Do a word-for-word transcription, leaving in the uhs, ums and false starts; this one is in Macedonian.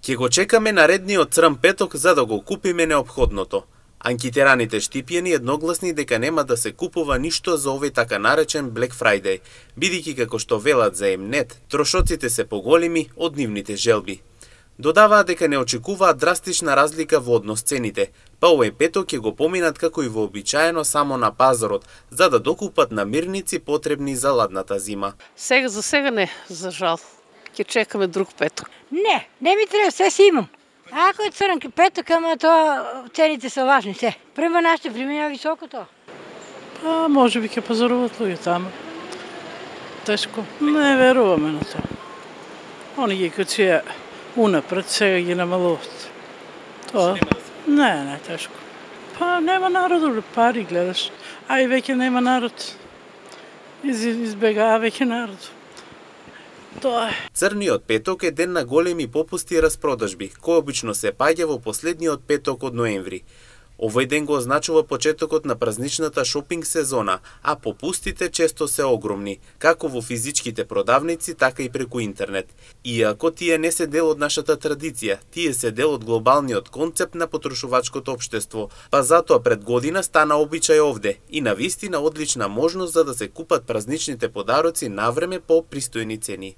Ќе го чекаме наредниот црн петок за да го купиме неопходното. Анкетираните штипјани едногласни дека нема да се купува ништо за овој така наречен Black Friday, бидејќи како што велат за Емнет, трошоците се поголеми од нивните желби. Додаваат дека не очекуваат драстична разлика во однос цените, па овој петок ќе го поминат како и вообичаено само на пазарот, за да докупат намирници потребни за ладната зима. Сега за сега не, за жал. Ќе чекаме друг петок. Не, не ми треба, се си имам. Ако е црн петок, ама тоа цените се важни се. Према нашите времења високо тоа. Па може би ќе пазаруват луѓе таму. Тешко. Не веруваме на тоа. Они ги кои си унапред сега ги намалуват. Тоа не, не тешко. Па нема народ, пари гледаш. А и веќе нема народ. Из, избегава веќе народ. Тоа е. Црниот петок е ден на големи попусти и распродажби, кој обично се паѓа во последниот петок од ноември. Овој ден го означува почетокот на празничната шопинг сезона, а попустите често се огромни, како во физичките продавници, така и преку интернет. Иако тие не се дел од нашата традиција, тие се дел од глобалниот концепт на потрошувачкото општество, па затоа пред година стана обичај овде и навистина одлична можност за да се купат празничните подароци навреме по пристојни цени.